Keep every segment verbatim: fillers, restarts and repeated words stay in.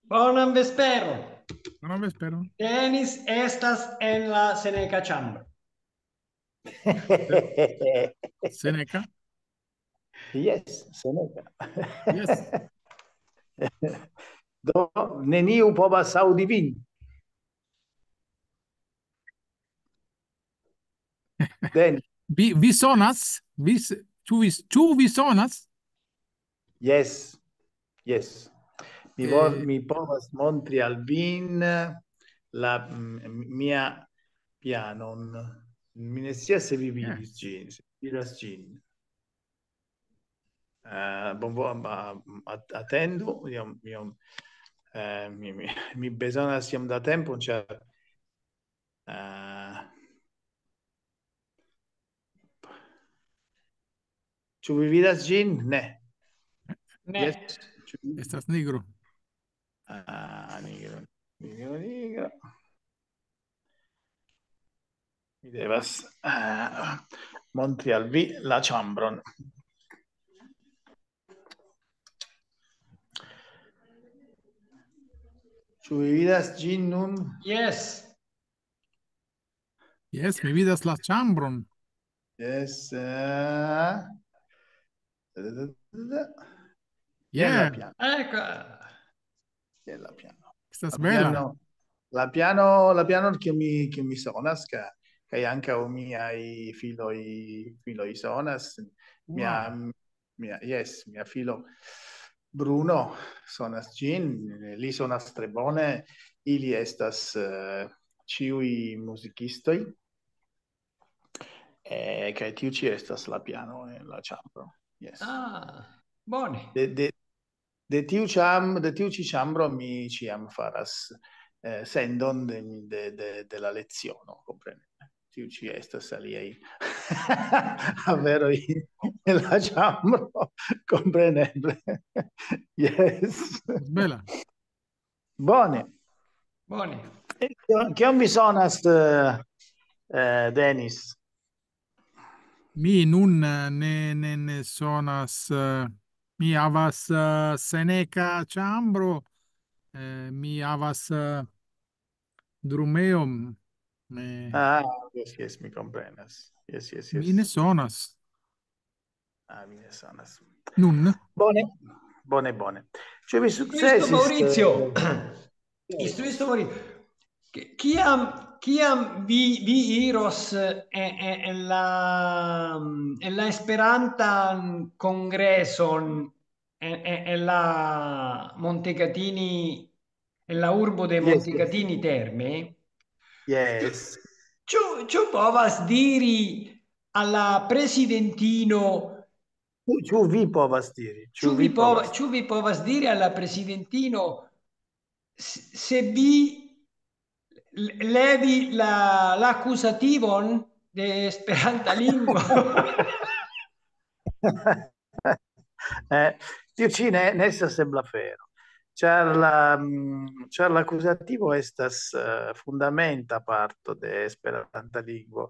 Bonan vesperon. Bonan vesperon. Denis estas en la Seneca ĉambro. Seneca? Yes, Seneca. Yes. Do, neniu povas aŭdi vin. Then, Vi, vi sonas? Vi, s- ĉu vi, ĉu vi sonas? Yes, yes. Mi, Eh. Vol, mi povas montri al vin la mm, mia pianon. Mi ne scias se vi vidis ĝin, se vi vidas ĝin. Uh, bon, bon, ma- at- atendu, io, io, eh, mi, mi, mi bezonas iom da tempo, cioè, uh, ĉu vi vidas ĝin? Ne. Ne. Yes. Ĉu vi- Estas nigro. Ah, nigro, nigro, nigro. Mi devas uh, montri al vi la ĉambron. Ĉu vi vidas ĝin nun? Yes. Yes, mi vidas la ĉambron. Yes. Uh, Yeah. Ecco. Che la piano. Estas La bela. piano, la piano, la piano che mi, che mi sonas, che, che anche o miei filoi, filoi sonas. Mia, Wow. mia, yes, mia filo Bruno sonas ĝin, li sonas tre bone, ili estas uh, ĉiuj muzikistoj. Eh, kaj tiu ĉi estas la piano en la ĉambro. Yes. Ah, bone. De, de, de tiu ĉam, de tiu ĉi ĉambro mi ĉiam faras eh, sendon de, de, de, de la leciono, kompreneble. Tiu ĉi estas aliaj aferoj en la ĉambro, kompreneble. Yes. Bela. Bone. Bone. E kion, kion vi sonas, eh, eh, Denis? Mi nun eh, ne, ne, ne sonas. Eh, mi havas eh, Seneca ĉambro. Eh, mi havas eh, drumeon. Eh, Ah, yes, yes, mi komprenas. Yes, yes, yes. Mi ne sonas. Ah, mi ne sonas. Nun. Bone, bone, bone. Ĉu vi Istruisto sukcesis? Maurizio. Eh, Istruisto Maurizio. Che- Kiam, kiam vi, vi iros eh, eh, en la, en la Esperantan kongreson en, en, en la Montecatini, en la urbo de Yes, yes. Montecatini Terme, Yes. Ĉu, ĉu povas diri al la presidentino, Ĉu, ĉu vi povas diri? ĉu vi, pov, povas, ĉu vi povas diri al la presidentino s- se vi l- levi la, l'akuzativon de Esperanta lingvo? Eh, tiu ĉi ne, ne estas ebla afero. Ĉar la, mm, ĉar la akuzativo estas eh, fundamenta parto de Esperanta lingvo.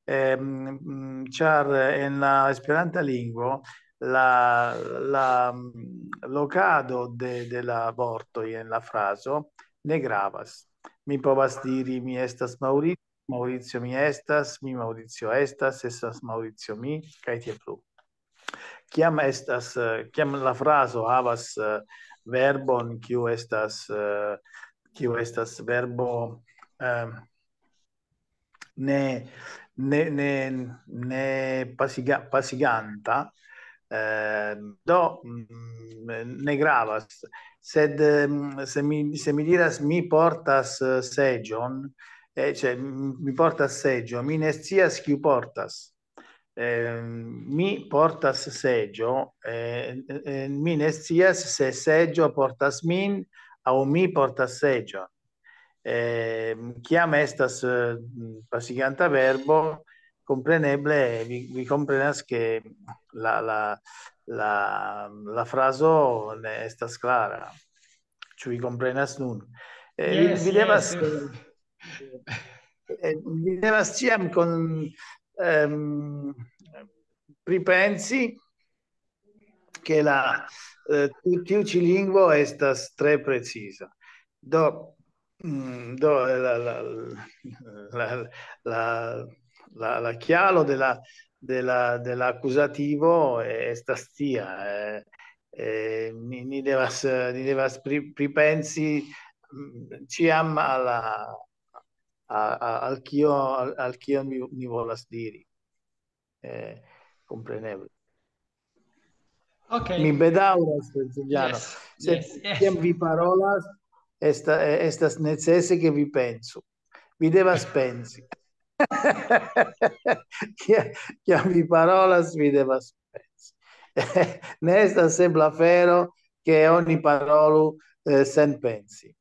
Ehm, mm, ĉar en la Esperanta lingvo la, la mm, lokado de, de la vortoj en la frazo ne gravas. Mi povas diri, mi estas Mauri-, Maurizio mi estas, mi Maurizio estas, estas Maurizio mi, kaj tiel plu. Kiam estas, eh, kiam la frazo havas eh, verbon, kiu estas, eh, kiu estas verbo eh, ne, ne, ne, ne pasiga, pasiganta, eh, do mm, ne gravas. Sed mm, se mi, se mi diras mi portas eh, seĝon, eh, cioè, mm, mi portas seĝo, mi ne scias kiu portas. Eh, mi portas seĝo, eh, eh, mi ne scias se seĝo portas min aŭ mi portas seĝon. Eh, kiam estas eh, pasiganta verbo, kompreneble vi, vi komprenas ke la, la, la, la frazo ne estas klara. Ĉu vi komprenas nun? Eh, vi, Yes, vi devas, yes. eh, eh, vi devas ĉiam kon, ehm, pripensi ke la, eh, tiu, tiu ĉi lingvo estas tre preciza. Do, mm, do la, la, la, la, la, la kialo de la, de la, de la akuzativo estas tia, eh, eh, ni, ni devas, eh, ni devas pri-, pripensi, mm, ĉiam al la, a, a, al kio, al, al kio mi, mi volas diri. Eh, kompreneble. Ok. Mi bedaŭras, Giuliano. Yes, Sed yes, yes. Kiam vi parolas, esta-, eh, estas necese, ke vi pensu. Vi devas pensi. Kia-, kiam vi parolas, vi devas pensi. Ne estas ebla afero, ke oni parolu, eh, sen pensi.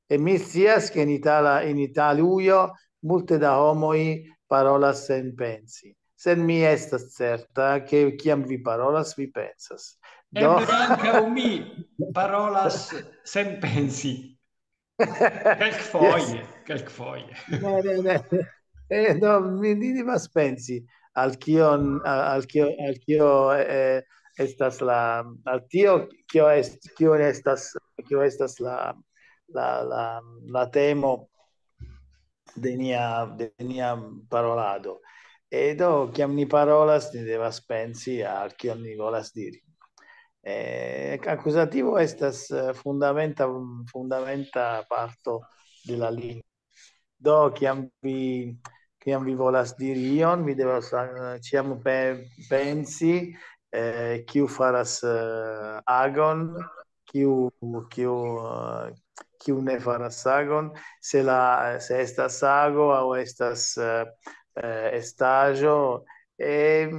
E mi scias, ke en Itala-, en Italujo multe da homoj parolas sen pensi. Sed mi estas certa, ke kiam vi parolas, vi pensas. Do, Eble ankaŭ mi parolas sen pensi. Kelkfoje, kelkfoje. Ne, ne, ne. Eh, no, mi, mi devas pensi al kion, al, al kio, al kio, eh, estas la, al tio, kio est-, kio estas, kio estas la, la, la, la temo de nia, de nia parolado. E do, kiam ni parolas, ni devas pensi al kion ni volas diri. Eh, akuzativo estas, eh, fundamenta, fundamenta parto de la lingvo. Do, kiam vi, kiam vi volas diri ion, vi devas, eh, ĉiam pe-, pensi, eh, kiu faras, eh, agon, kiu, kiu, eh, kiu ne faras agon, se la, se estas ago aŭ estas, eh, eh, estaĵo. Eh,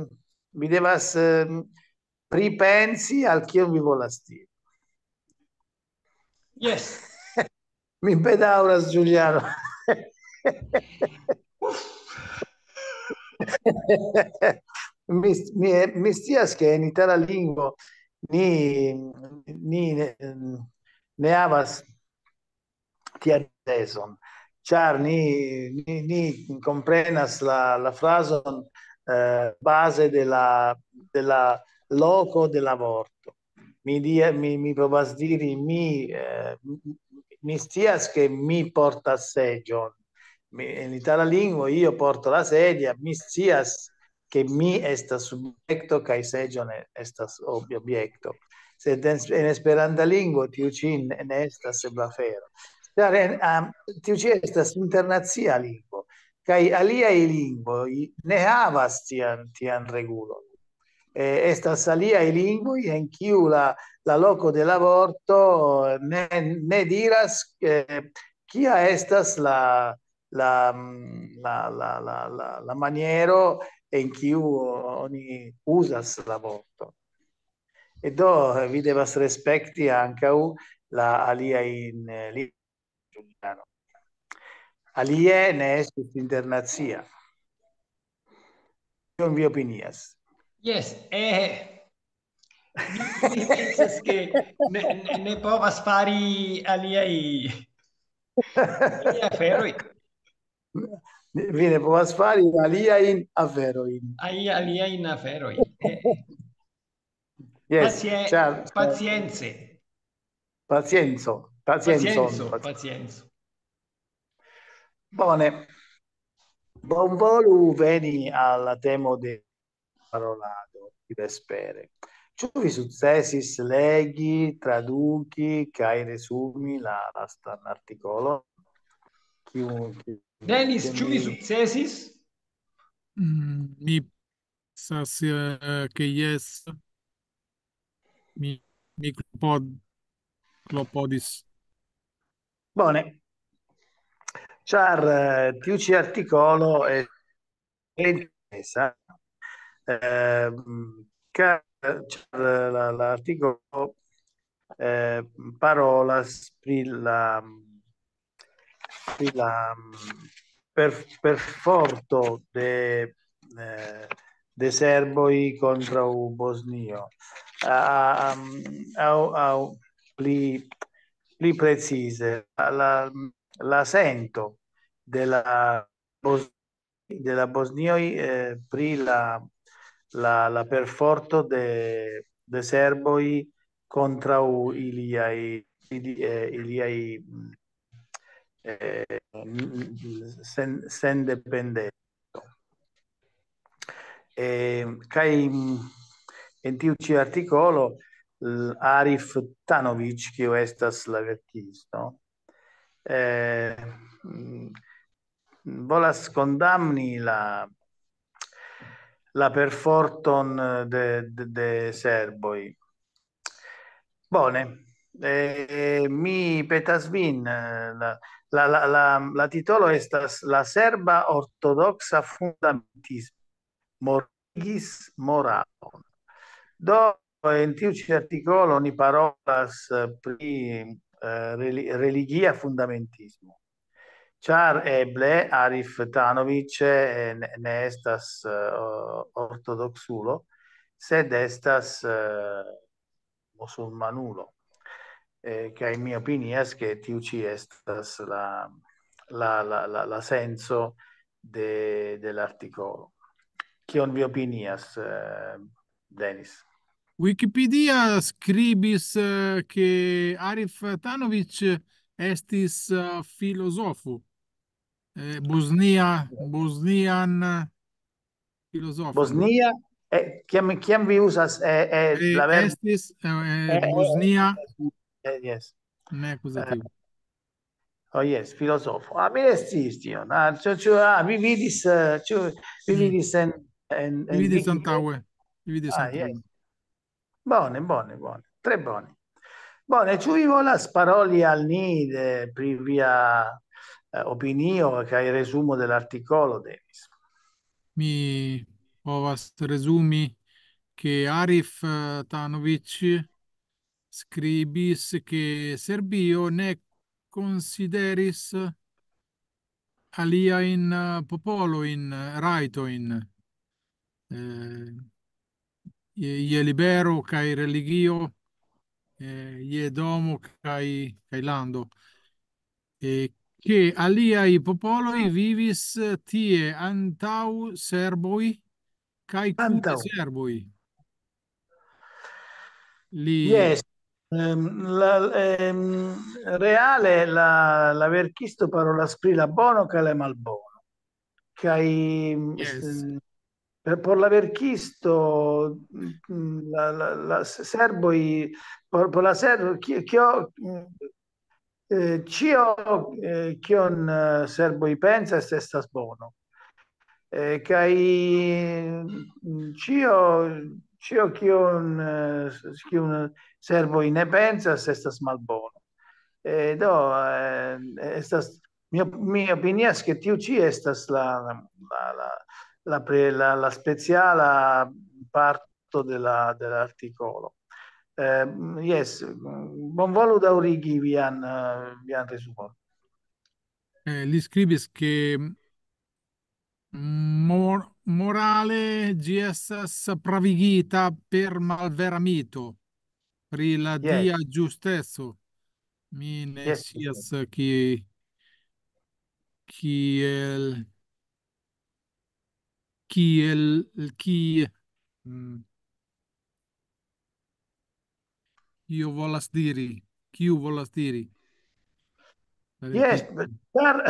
vi devas, eh, pripensi al kion vi volas diri. Yes. Mi bedaŭras, Giuliano. Mi, mi, mi scias, ke en itala lingvo ni, ni ne, ne havas tian tezon, ĉar ni, ni, ni komprenas la, la frazon, eh, baze de la, de la loko de la vorto. Mi, di-, mi, mi provas diri, mi, eh, mi scias, ke mi portas seĝon. Mi, en itala lingvo io porto la sedia, mi scias, ke mi estas subjekto kaj seĝo ne estas ob-, objekto. Sed en, en Esperanta lingvo tiu ĉi ne, ne estas ebla afero. Ĉar en, am, tiu ĉi estas internacia lingvo, kaj aliaj lingvoj ne havas tian, tian regulon. Eh, estas aliaj lingvoj en kiu la, la loko de la vorto ne, ne diras, eh, kia estas la, la, mm, la, la, la, la, la maniero en kiu oni uzas la vorto. E do, eh, vi devas respekti ankaŭ la aliajn, eh, li-, Giuliano. Alie ne estus internacia. Kion vi opinias? Yes, eh, mi, mi pensas, ke ne, ne, ne povas fari aliaj, aliaj aferoj. Vi ne povas fari aliajn aferojn. Ai-, aliajn aferojn. Eh, Yes, pacie-, ĉar, pacience. Pacienco, pacienzon, Pacienco, paci-, pacienco. Bone. Bonvolu veni al la temo de parolado di vespere. Ĉu vi sukcesis legi, traduki kaj resumi la lastan artikolon? Kiu, kiu, Denis, kiun ĉu vi vi sukcesis? Mm, mi pensas, eh, ke jes. Mi, mi klopod-, klopodis. Bone. Ĉar, eh, tiu ĉi artikolo è interesa, ehm, ca-, ĉar la, la artikolo, eh, parolas pri la, pri la, mm, per-, perforto de, eh, de serboj kontraŭ Bosnio. A, a, am, aŭ, aŭ pli, pli precize, la, la sento de la Bos-, de la bosnioj, eh, pri la, la, la perforto de, de serboj kontraŭ iliaj, ili-, eh, iliaj, mm, eh, mm, sen-, sendependeco. Eh, kaj, mm, en tiu ĉi artikolo, l-, Arif Tanovic, kiu estas la verkisto, eh, mm, volas kondamni la, la perforton de, de, de serboj. Bone, eh, mi petas vin, eh, la, la, la, la, la titolo estas La serba ortodoksa fundamentismo mortigis moralon. Do, en tiu ĉi artikolo ni parolas, eh, pri, eh, reli-, religia fundamentismo. Ĉar eble Arif Tanovic, eh, ne, ne estas, eh, ortodoksulo, sed estas, eh, musulmanulo. Eh, kaj mi opinias, ke tiu ĉi estas la, la, la, la, la senco de, de l'artikolo. Kion vi opinias, eh, Denis? Wikipedia skribis, eh, ke Arif Tanovic estis, eh, filozofo. Eh, Bosnia, Bosnian, eh, filozofo. Bosnia, eh, kiam, kiam vi uzas, eh, eh, eh, la verbo estis, eh, eh, Bosnia, eh, yes, ne akuzativo. Oh, yes, filozofo. Ah, mi ne sciis tion. Ah, ĉu, ĉu, ah, vi vidis, eh, ĉu vi vidis en, en, en Wiki? Antaŭe. Vi vidis antaŭe. Yes. Bone, bone, bone. Tre bone. Bone, ĉu vi volas paroli al ni de, pri via, eh, opinio kaj resumo de l'artikolo, Denis? Mi povas rezumi, ke Arif, eh, Tanovic skribis, ke Serbio ne konsideris aliajn, eh, popolojn, eh, rajtojn, eh, je, je libero kaj religio, eh, je domo kaj, kaj lando. Eh, ke aliaj popoloj vivis tie antaŭ serboj kaj kune serboj. Li... Yes. Ehm, la, ehm, reale la, la verkisto parolas pri la bono kaj la malbono. Kaj, yes, ehm, per, por la verkisto, mm, la, la, la s-, serboj, por, por la serbo, ki-, kio, mm, eh, ĉio, eh, kion, eh, serboj pensas, estas bono. Eh, kaj, mm, ĉio, ĉio, kion, eh, s-, kiun serboj ne pensas, estas malbono. Eh, do, eh, estas, mi op-, mi opinias, ke tiu ĉi estas la, la, la, la pre-, la, la speciala parto de la, de l'artikolo. Eh, yes, bonvolu daŭrigi vian, eh, vian resumon. Eh, li skribis, ke mor-, morale ĝi estas pravigita per malvera mito pri la, yes, dia ĝusteco. Mi ne, yes, scias, yes, ki-, kiel, kiel, ki-, mm, io volas diri, kiu volas diri. La, yes, verkisto, ĉar,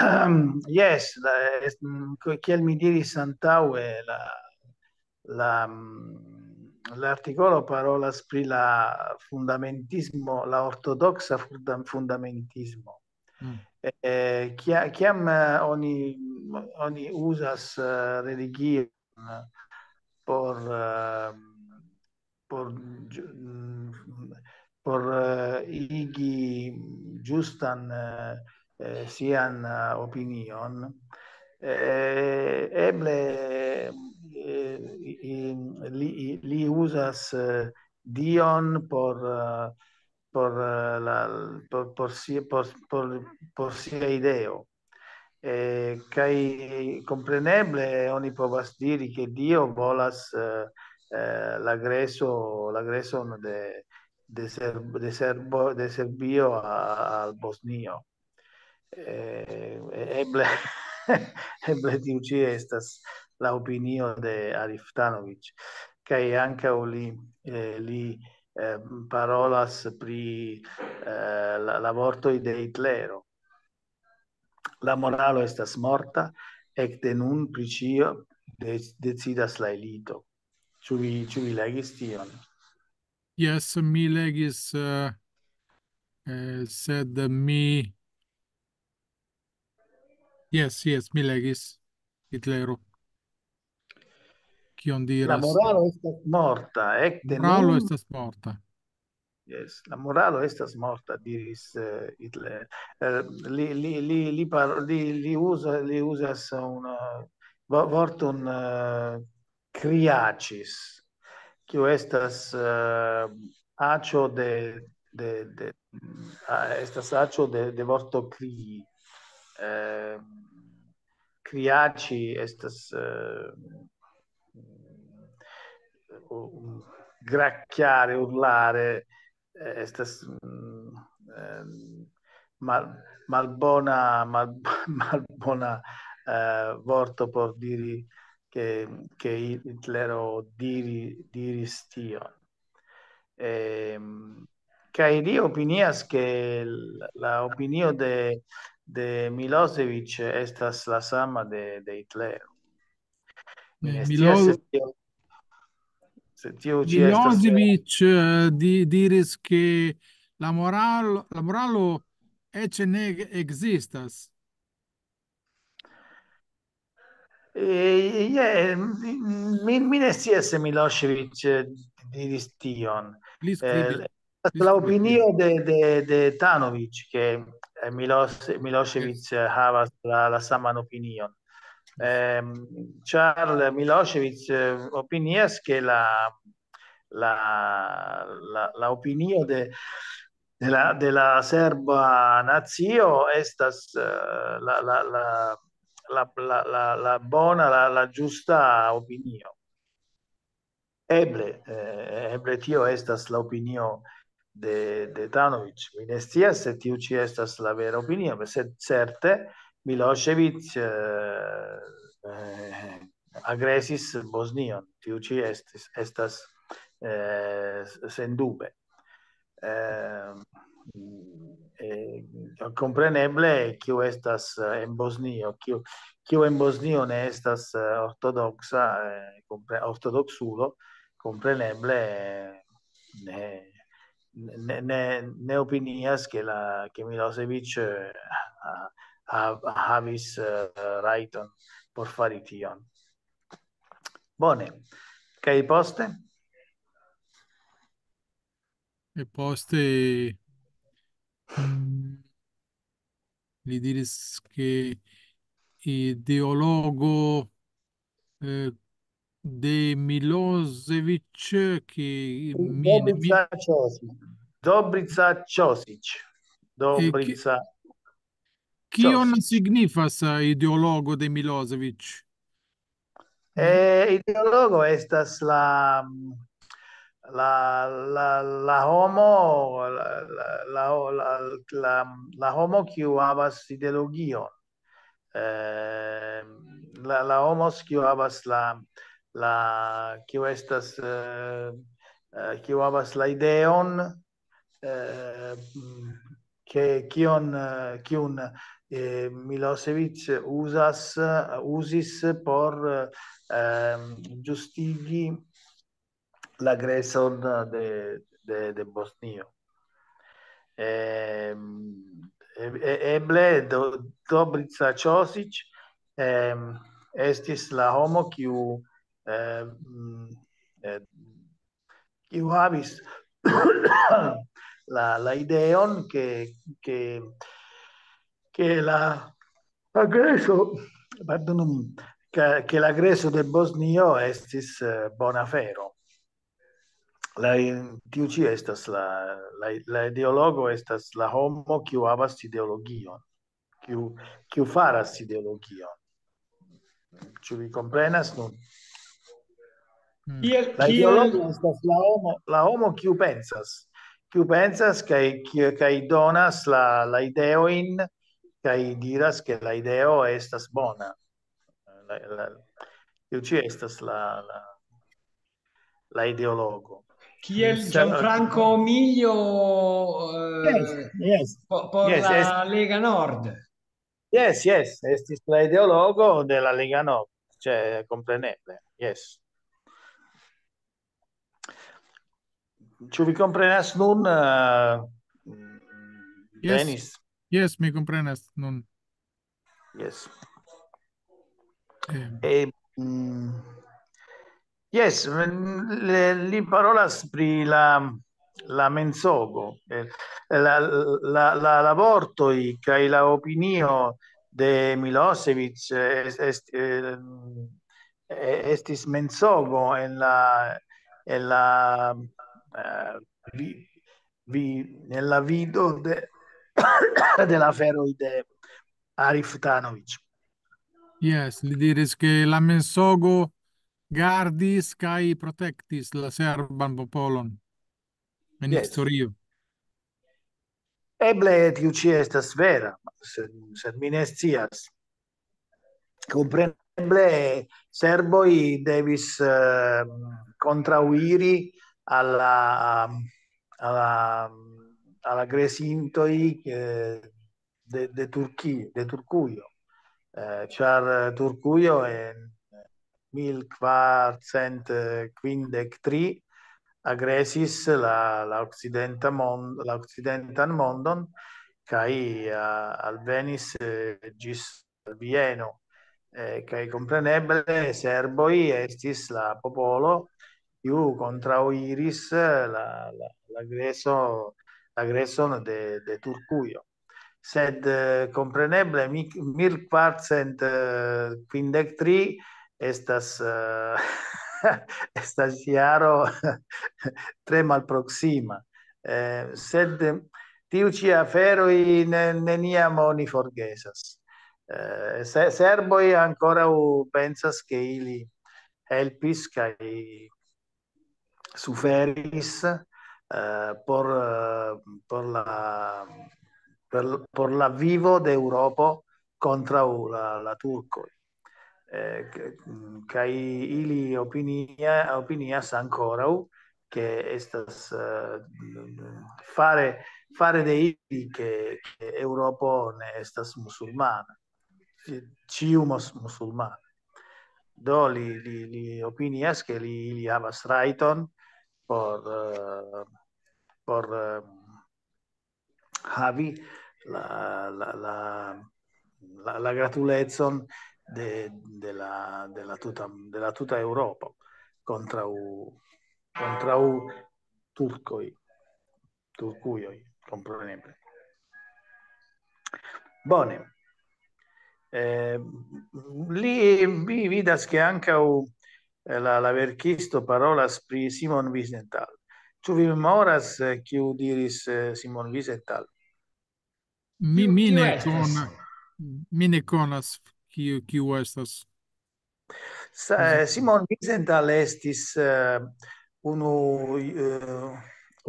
yes, la, es-, mm, ko-, kiel mi diris antaŭe, la, la, mm, l'artikolo parolas pri la fundamentismo, la ortodoksa funda-, fundamentismo. Mm. Eh, kia-, kiam, eh, oni, oni uzas, eh, religion por, eh, por ĝu-, mm, por, eh, igi ĝustan, eh, eh, sian, eh, opinion, eh, eble, eh, i-, i-, li, i-, li uzas, eh, Dion por, eh, por, eh, la, por, por si-, por, por, por sia ideo. Eh, kaj kompreneble oni povas diri, ke Dio volas, eh, eh, la greso-, la greson de, de Serb-, de Serbo-, de Serbio a-, al Bosnio. Eh, eble, eble tiu ĉi estas la opinio de Arif Tanovic. kaj ankaŭ li, eh, li, eh, parolas pri, eh, la, la vortoj de Hitlero. La moralo estas morta, ekde nun pri ĉio de-, decidas la elito. Ĉu vi, ĉu vi legis tion? Jes, mi legis, eh, eh, sed mi... Jes, jes, mi legis Hitlero. Kion La diras? moralo estas morta, ekde Moralo nun estas morta. Yes, la moralo estas morta, diris, eh, Hitler. Eh, li, li, li, li, par-, li, li, uza, li uzas un, eh, vo-, vorton, eh, kriaĉis, kiu estas, eh, aĉo de, de, de, ah, estas aĉo de, de vorto krii. Eh, kriaĉi estas, eh, u-, grakkjare, urlare, eh, estas, mm, eh, mal-, malbona, mal-, malbona, eh, vorto por diri ke, ke Hitlero diri-, diris tion. Ehm, kaj li opinias ke la, la opinio de, de Milosevic estas la sama de, de Hitlero. Mi Eh, ne scias se Milo-, tio, se tio ĉi estas vera. Milosevic, eh, di-, diris ke la moralo, la moralo eĉ ne ekzistas. Eh, yeah, mi, mi ne scias se Milosevic, eh, diris tion. Li Eh, skribis, li la skribis opinio de, de, de Tanovic, ke, eh, Milos-, Milosevic, eh, havas la, la saman opinion. Ehm, ĉar Milosevic, eh, opinias ke la, la, la, la opinio de, de la, de la serba nacio estas, eh, la, la, la, la, la, la, la bona, la, la ĝusta opinio. Eble, eh, eble tio estas la opinio de, de Tanovic. Mi ne scias se tiu ĉi estas la vera opinio, sed certe Milosevic, eh, eh, agresis Bosnion. Tiu ĉi estis, estas, eh, sendube. Eh, eh, kompreneble, kiu estas, eh, en Bosnio, kiu, kiu en Bosnio ne estas, eh, ortodoksa, eh, kompre-, ortodoksulo, kompreneble, eh, ne, ne, ne, ne opinias ke la, ke Milosevic, eh, ha-, ha-, havis, eh, rajton por fari tion. Bone. Kaj poste? E poste, mm, li diris ke ideologo, eh, de Milosevic, ke mi, mi, Dobrica Ćosić. Dobrica Ćosić. Dobrica. Kion Ćosić. Signifas, eh, ideologo de Milosevic? Eh, ideologo estas la, la, la, la homo, la, la, la, la, la, la homo kiu havas ideologion. Eh, la, la homos kiu havas la, la, kiu estas, eh, eh, kiu havas la ideon, eh, mm, ke kion, eh, kiun, eh, Milosevic uzas, eh, uzis por, eh, ehm, ĝustigi la agreson de, de, de Bosnio. Ehm, e-, e-, eble Do-, Dobrica Ćosić, ehm, estis la homo kiu, eh, mm, eh, kiu havis la, la ideon ke, ke, ke la agreso, pardonu min, ke, ke la agreso de Bosnio estis, eh, bona afero. La, tiu ĉi estas la, la, la ideologo estas la homo kiu havas ideologion, kiu, kiu faras ideologion. Ĉu vi komprenas nun? Mm. Kiel, La kiel, ideologo estas la homo, la homo kiu pensas, kiu pensas kaj, kiu, kaj donas la, la ideojn, kaj diras ke la ideo estas bona. La, la, tiu ĉi estas la, la, la ideologo. Kiel Gianfranco Miglio, eh, Yes, yes. po- por Yes, la es- Lega Nord. Yes, yes, estis la ideologo de la Lega Nord, cioè, kompreneble. Yes. Ĉu vi komprenas nun, eh, Yes. Denis? Yes, mi komprenas nun. Yes. Eh, E, mm, yes, mm, le- li parolas pri la, la mensogo, eh, la, la, la, la vortoj kaj la opinio de Milosevic, eh, est, est, eh, eh, estis mensogo en la, en la, eh, vi, vi, en la vido de, de la aferoj de Arif Tanovic. Yes, li diris ke la mensogo gardis kaj protektis la serban popolon en Yes. Historio. Eble tiu ĉi estas vera, sed, sed mi ne scias. Kompreneble serboj devis, eh, kontraŭiri al la, al la, al la agresintoj, eh, de, de Turki-, de Turkujo. Eh, ĉar Turkujo en mil kvarcent kvindek tri agresis la, la okcidenta mon-, la okcidentan mondon, kaj, eh, alvenis, eh, ĝis Vieno. Eh, kaj kompreneble serboj estis la popolo, kiu kontraŭiris la, la, la agreso-, agreson de, de Turkujo. Sed, eh, kompreneble mi-, mil kvarcent kvindek tri estas, eh, estas jaro tre malproksima. Eh, sed tiu ĉi aferoj ne-, neniam oni forgesas. Eh, se-, serboj ankoraŭ pensas, ke ili helpis kaj suferis, eh, por, eh, por la, per, por la vivo de Eŭropo kontraŭ la, la turkoj. Eh, k-, mm, kaj ili opinia-, opinias ankoraŭ, ke estas, eh, fare, fare de ili, ke, ke Eŭropo ne estas musulmana. Ĉi-, ĉiu mus-, musulmana. Do li, li, li opinias, ke li, ili havas rajton por, eh, por, eh, havi la, la, la, la, la gratulecon de, de la, de la tuta, de la tuta Eŭropo kontraŭ, kontraŭ turkoj, turkujoj, kompreneble. Bone. Eh, li, vi vidas, ke ankaŭ, eh, la, la verkisto parolas pri Simon Wiesenthal. Ĉu vi memoras, eh, kiu diris, eh, Simon Wiesenthal? Mi, Kiu, mi kiu ne estas? Kon-, mi ne konas kiu, kiu estas. Sa-, eh, Simon Wiesenthal estis, eh, unu, eh,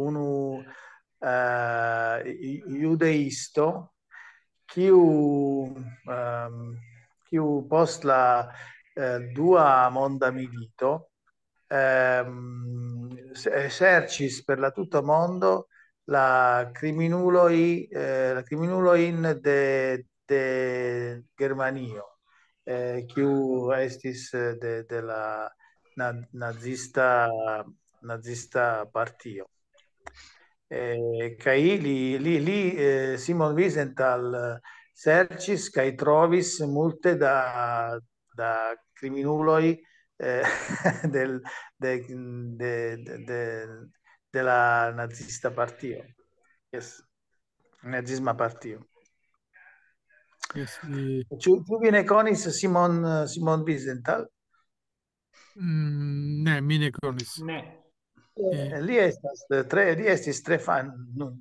unu, eh, ju-, judeisto, kiu, ehm, kiu post la, eh, dua monda milito, ehm, se-, serĉis per la tuta mondo la kriminuloj, eh, la kriminulojn de, de Germanio, eh, kiu estis, eh, de, de la na-, nazista, nazista partio. Eh, kaj li, li, li, eh, Simon Wiesenthal, eh, serĉis kaj trovis multe da, da kriminuloj, eh, del, de, de, de, de, de la nazista partio. Yes. Nazisma partio. Yes, eh, Ĉu, ĉu vi ne konis Simon, Simon Wiesenthal? mm, ne, mi ne konis. Ne. Eh, li estas, eh, tre, li estis tre fan-, nun,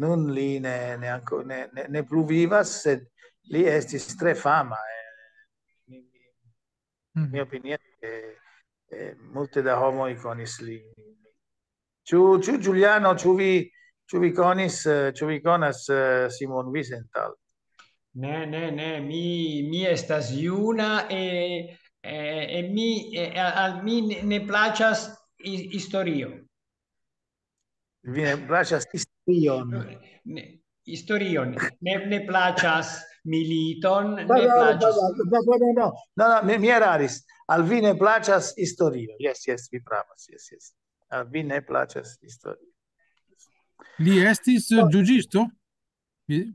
nun li ne, ne anko-, ne, ne, ne plu vivas, sed li estis tre fama, eh, mi, mi, Mhm. mi opinias, ke, eh, multe da homoj konis li. Ĉu, ĉu Giuliano, ĉu vi, ĉu vi konis, eh, ĉu vi konas, eh, Simon Wiesenthal? Ne, ne, ne, mi, mi estas juna e, e, e mi, e, al, al mi ne, ne plaĉas Hi- historio. Vi ne plaĉas historion. Ne, historion. Ne, ne plaĉas militon, No, ne no, no, plaĉas. no, no, no, no, no, no, mi, mi eraris. Al vi ne plaĉas historio. Yes, yes, vi pravas. Yes, yes. Al vi ne plaĉas historio. Li estis juĝisto? Vi-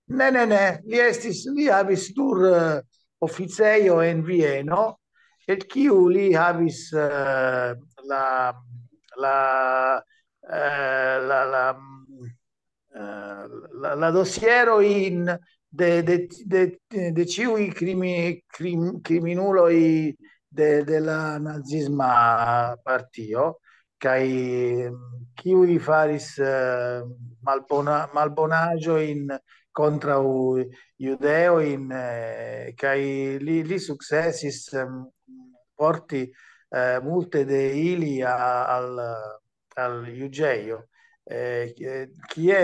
Ne, ne, ne. Li estis, li havis nur eh, oficejo en Vieno, el kiu li havis eh, la la eh, la la mm, eh, la, la dosierojn de de de, de ĉiuj krimi, krim, kriminuloj de, de la nazisma partio, kaj mm, kiuj faris eh, malbona, malbonaĵojn kontraŭ judeojn, eh, kaj li, li sukcesis em, porti eh, multe de ili a- al, al juĝejo, eh, kie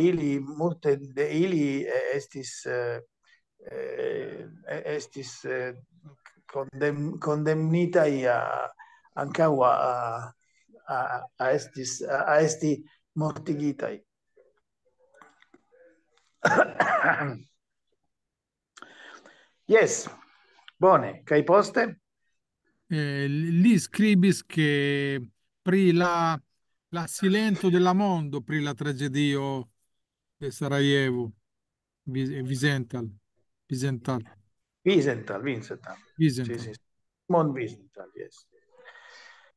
ili, multe de ili eh, estis eh, eh, estis eh, kondem, kondemnitaj a, ankaŭ a, a, a, estis, a, a esti mortigitaj. Yes, bone, kaj poste? Eh, li skribis ke pri la, la silento de la mondo pri la tragedio de Sarajevo, Vi- Vizental, Vizental, Vizental, Vizental. Sì, Vizental. Sì. Simon Vizental, yes.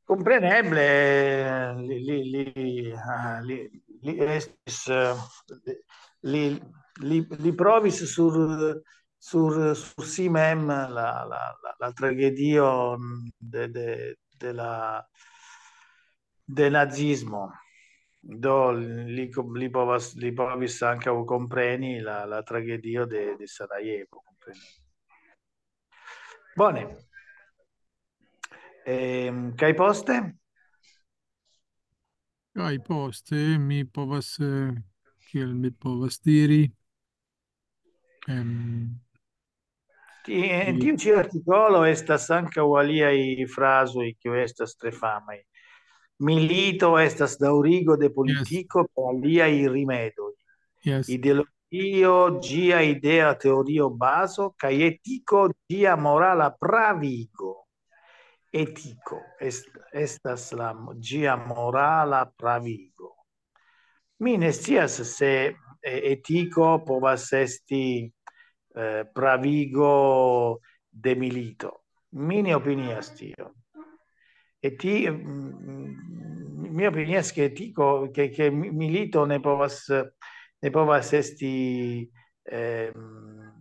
Compreneble, li, li, li, ah, li, li estis, eh, li, li, li provis sur, sur, sur si mem la, la, la, la tragedio de, de, de la de nazismo. Do li, li, povas, li povis ankaŭ kompreni la, la tragedio de, de Sarajevo. Kompreni. Bone. Ehm, kaj poste? Kaj poste mi povas, eh, kiel mi povas diri, em, Ti- En tiu ĉi artikolo estas ankaŭ aliaj frazoj, kiuj estas tre famaj. Milito estas daŭrigo de politiko per aliaj rimedoj. Yes. Ideologio, ĝia idea teorio bazo, kaj etiko, ĝia morala pravigo. Etiko est, estas la, ĝia morala pravigo. Mi ne scias se eh, etiko povas esti eh, pravigo de milito. Mi ne opinias tion. E ti, mm, mi opinias ke etiko, ke, ke mi- milito ne povas, ne povas esti ehm,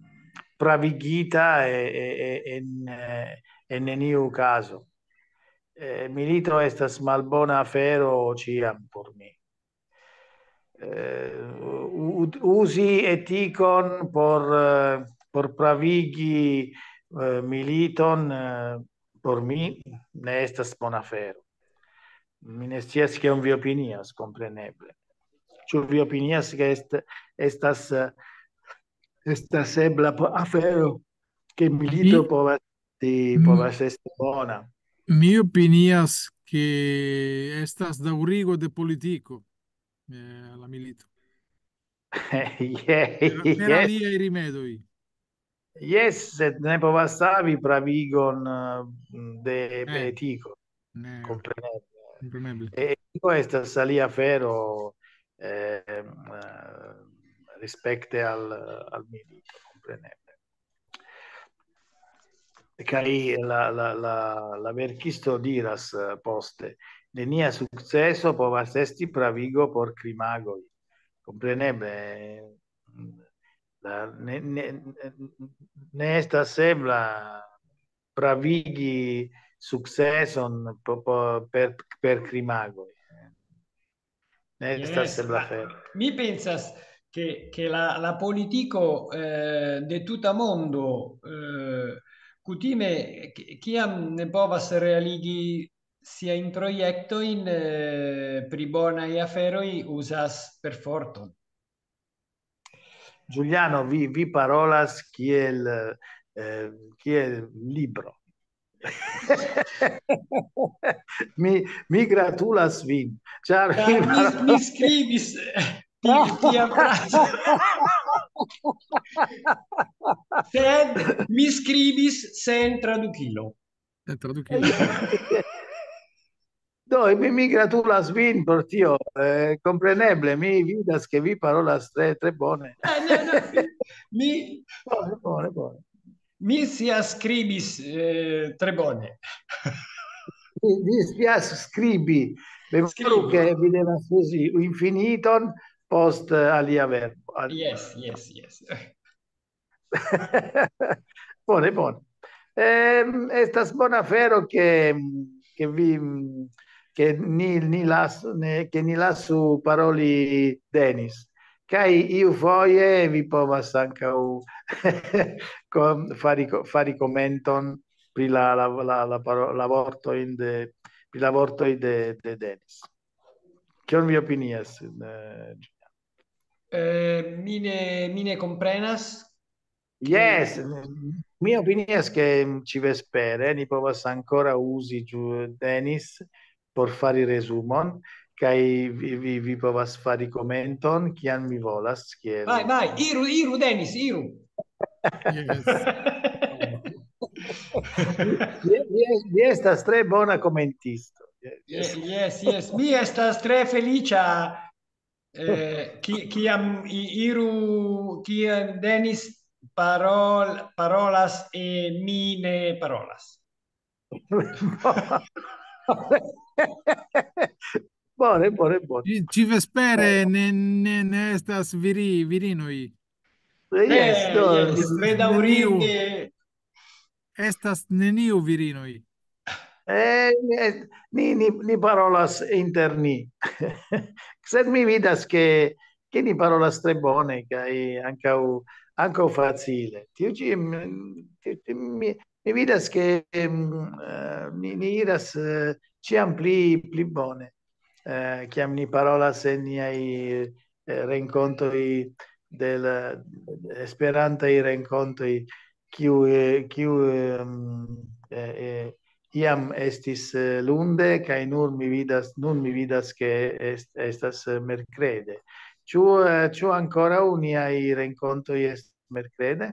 pravigita e- e- e- en, eh, en neniu kazo. Eh, milito estas malbona afero ĉiam por mi. Eh, u- u- uzi etikon por, eh, por pravigi eh, militon eh, por mi ne estas bona afero. Mi ne scias kion vi opinias, kompreneble. Ĉu vi opinias ke est, estas, eh, estas ebla po- afero, ke milito Mi- povas, esti- Mm. povas esti bona? Mi opinias ke estas daŭrigo de politiko, eh, la milito. Ye- Per, per yes, aliaj rimedoj. Yes, sed ne povas havi pravigon eh, de Eh. etiko. Ne, Kompreneble. kompreneble. E etiko estas alia afero eh, eh, rispekte al, al milito, kompreneble. Kaj la, la, la, la verkisto diras eh, poste, nenia sukceso povas esti pravigo por krimagoj. Kompreneble, eh, la, ne, ne, ne estas ebla pravigi sukceson po- po- per, per krimagoj. Ne estas Yes, ebla ma afero. Mi pensas che, che la, la politico eh, de tuta mondo eh, kutime ki- kiam ne povas realigi sia in proiekto in eh, pri bona e afero i usas per forton. Giuliano, vi, vi parolas kiel, eh, kiel libro. Mi, mi gratulas vin, ĉar vi... Mi, mi skribis eh, ti- tian frazon. Sed mi skribis sen tradukilo. Eh, tradukilo. Do, mi, mi gratulas vin por tio. Eh, kompreneble, mi vidas, ke vi parolas tre, tre bone. Eh, no, no, mi, Bone, bone, bone. Mi scias skribis eh, tre bone. Vi, vi scias skribi. Memoru, Skribi. Ke vi devas uzi infiniton post eh, alia verbo. Al- Yes, yes, yes. Bone, bone. Ehm, estas bona afero, ke, ke vi, ke ni, ni lasu, ne, ke ni lasu paroli Denis. Kaj iufoje vi povas ankaŭ kom- fari, ko- fari komenton pri la, la, la, la, paro- la vortojn de, pri la vortoj de, de Denis. Kion vi opinias? Eh, Eh, mi ne, mi ne komprenas. Yes, mi opinias, ke ĉi vespere ni povas ankoraŭ uzi ĝu- Denis por fari resumon, kaj vi, vi, vi povas fari komenton, kiam vi volas. Kiel... Vai, vai, iru, iru, Denis, iru. Yes. Vi, vi, vi estas tre bona komentisto. Yes, yes, yes. Mi estas tre feliĉa eh, ki- kiam i- iru, kiam Denis parol, parolas e mi ne parolas. Bone, bone, bone. Ci, ci vespere ne, ne, ne estas viri, virinoj. Yes, Eh, do, yes, bedaŭrinde. Estas neniu virinoj. Eh, eh, ni, ni, ni parolas inter ni. Sed mi vidas, ke, ke ni parolas tre bone, kaj ankaŭ, ankaŭ facile. Tiu ĉi, mm, tiu ĉi mi, mi vidas, ke mm, eh, ni, ni iras eh, ĉiam pli, pli bone. Eh, kiam ni parolas en niaj eh, renkontoj de la esperantaj renkontoj, kiu, eh, kiu ehm, eh, eh, iam estis eh, lunde, kaj nur mi vidas, nun mi vidas, ke est, estas eh, merkrede. Ĉu, eh, ĉu ankoraŭ niaj renkontoj estas merkrede?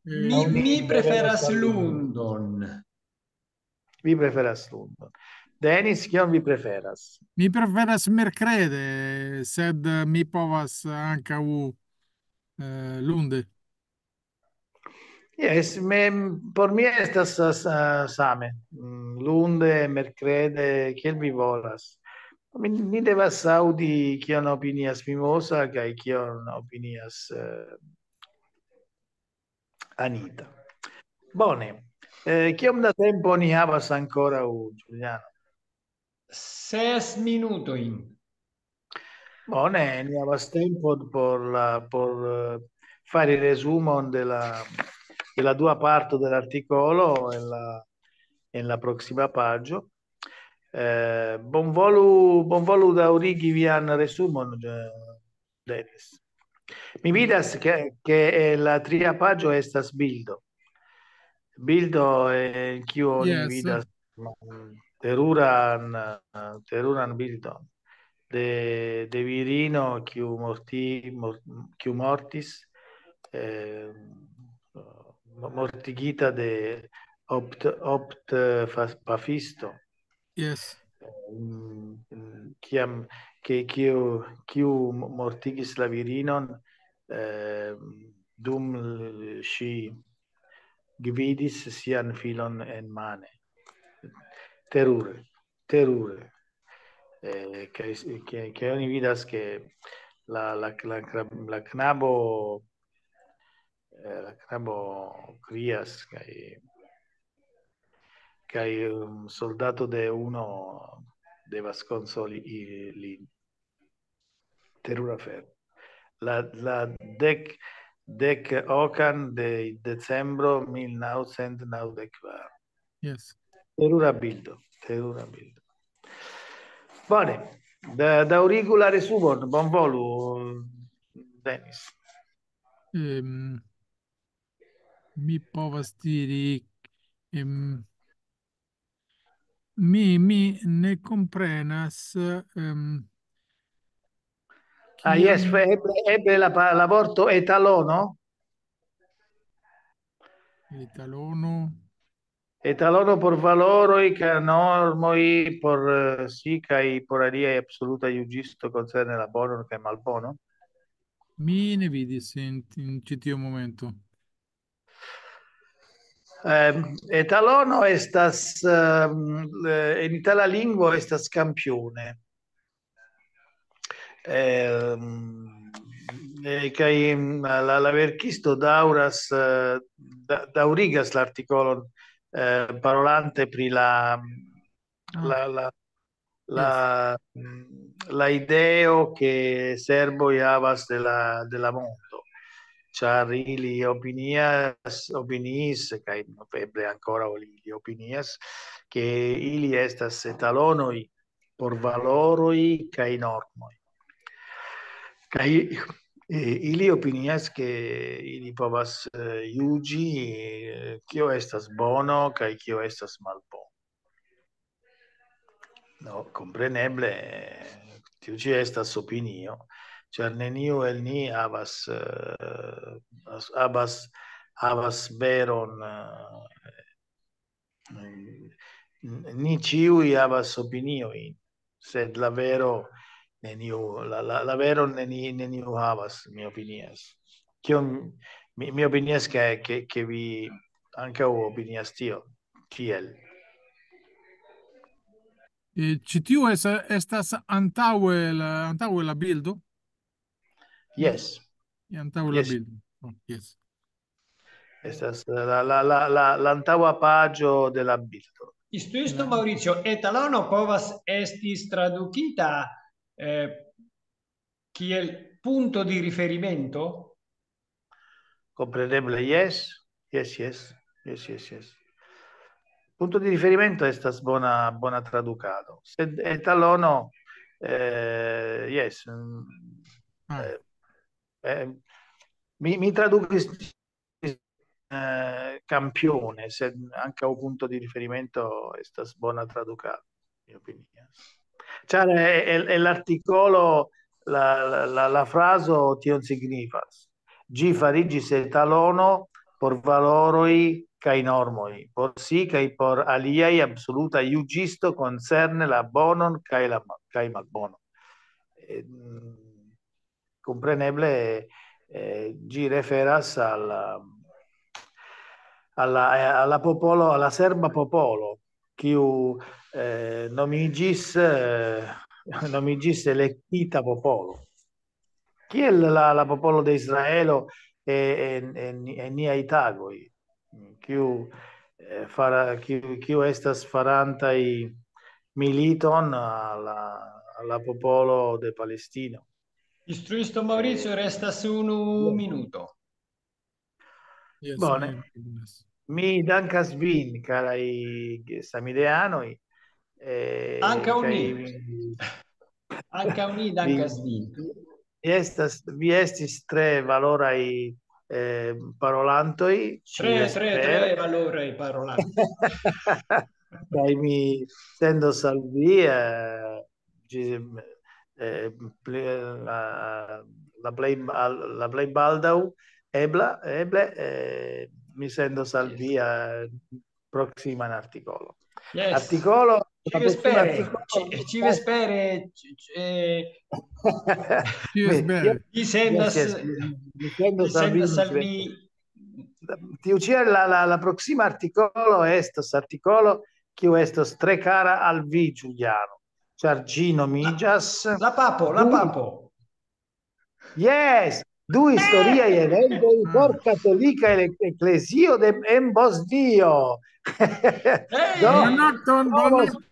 Mi, mi preferas lundon. Vi preferas lundon. Denis, kion vi preferas? Mi preferas merkrede, sed eh, mi povas ankaŭ eh, lunde. Yes, me, por mi estas eh, same. Mm, Lunde, merkrede, kiel vi volas. Mi, ni devas aŭdi, kion opinias Mimosa kaj kion opinias eh, Anita. Bone. Eh, kiom da tempo ni havas ankoraŭ, Giuliano? Ses minutojn. Bone, ni havas tempo por la, por eh, fari resumon de la, de la dua parto de l'artikolo en la, en la proksima paĝo. Eh, bonvolu, bonvolu daŭrigi vian resumon, eh, Denis. Mi vidas, ke, ke en la tria paĝo estas bildo. Bildo, eh, en kiu oni Yes. Vidas mm, teruran, eh, teruran bildon de, de virino, kiu, morti, mor, kiu mortis, eh, mo- mortigita de opt, opt eh, fa- pafisto. Yes. Mm, mm, Kiam, ke, kiu, kiu mo- mortigis la virinon eh, dum l- ŝi gvidis sian filon en mane. Terure, terure. Eh, kaj s- ke, ke oni vidas, ke la, la, la, kra- la knabo eh, la knabo krias, kaj, kaj um, soldato de uno devas konsoli i- lin. Terura afero. La, la dek, dek okan de decembro mil naŭcent naŭdek kvar. Yes. Terura bildo, terura bildo. Bone, da, daŭrigu la resumon, bonvolu, Denis. Ehm, mi povas diri, Em, mi, mi ne komprenas, em, Ah, yes, kion fe- eble, eble la, pa- la vorto etalono. Etalono. Etalono por valoroj kaj normoj, por, eh, si, kaj por aliaj absoluta juĝisto koncerne la bonon kaj malbonon. Mi ne vidis en, en ĉi tiu momento. Ehm, etalono estas, ehm, eh, en itala lingvo estas campione. Ehm, eh, kaj, mm, la, la verkisto daŭras, eh, da- daŭrigas la artikolon, eh, parolante pri la, Ah, la, la, yes. la, mm, la ideo ke serboj havas de la, de la mondo, ĉar ili opinias, opiniis, kaj eble ankoraŭ ili opinias, ke ili estas etalonoj por valoroj kaj normoj. Kaj, eh, ili opinias ke ili povas, eh, juĝi, eh, kio estas bono kaj kio estas malbono. No, kompreneble, eh, tiu ĉi estas opinio, ĉar neniu el ni havas, eh, as- havas, havas veron, eh, n- ni ĉiuj havas opiniojn, sed la vero neniu, la, la, la veron neni-, neniu havas, mi opinias. Kion mi, mi opinias ke, ke, ke vi ankaŭ opinias tio, kiel? Eh, ĉi tiu es-, estas antaŭe la, antaŭe la bildo? Yes, Antaŭe la yes. Bildo. Oh, yes. Estas la, la, la, la, la antaŭa paĝo de la bildo. Istuisto Maurizio, etalono povas estis tradukita, eh, kiel punto di riferimento? Kompreneble, yes. Yes, yes. Yes, yes, yes. Punto di riferimento estas bona, bona tradukado. Sed etalono, eh, yes, mm, Ah, eh, eh, mi, mi tradukis, eh, campione, sed ankaŭ punto di riferimento estas bona tradukado, mi opinias. Ĉar, eh, el, el artikolo la, la, la, la frazo tion signifas. Ĝi fariĝis etalono por valoroj kaj normoj, por si kaj por aliaj absoluta juĝisto koncerne la bonon kaj la ma-, kaj malbonon. Eh, mm, kompreneble, eh, ĝi referas al, al la, al la popolo, al la serba popolo, kiu, eh, nomiĝis, eh, nomiĝis elektita popolo. Kiel la, la popolo de Israelo, eh, en, en, en niaj tagoj, kiu, eh, fara-, kiu, kiu estas farantaj militon al la, al la popolo de Palestino. Istruisto Maurizio, restas unu minuto. Yes, Bone. Mi, yes. Mi dankas vin, karaj samideanoj. Eh, Ankaŭ kaj ni. vi, Ankaŭ ni vi, dankas vin. vi estas, vi estis tre valoraj, eh, parolantoj, Tre, tre, ĉiasper. Tre valoraj parolantoj. Kaj mi sendos al vi, eh, ĝi-, eh, pli, la, la plej, al-, la plej baldaŭ, ebla, eble, eh, mi sendos al vi, eh, proksiman artikolon. Yes. Artikolo, la proksima Ĉiuvespere, artikolo ĉi-, ĉiuvespere, ĉi-, eh, Yes, mi, bene. vi sendas, yes, yes, mi, mi vi sendos al vi, sendas al mi mi. Tiu ĉi la, la, la proksima artikolo estos artikolo, kiu estos tre kara al vi, Giuliano, ĉar ĝi nomiĝas La papo, la Du- papo. Yes, du historiaj eventoj Ah. por katolika ele-, eklezio de, en Bosnio. Eh, Do, Bonan nokton, povos, bonan.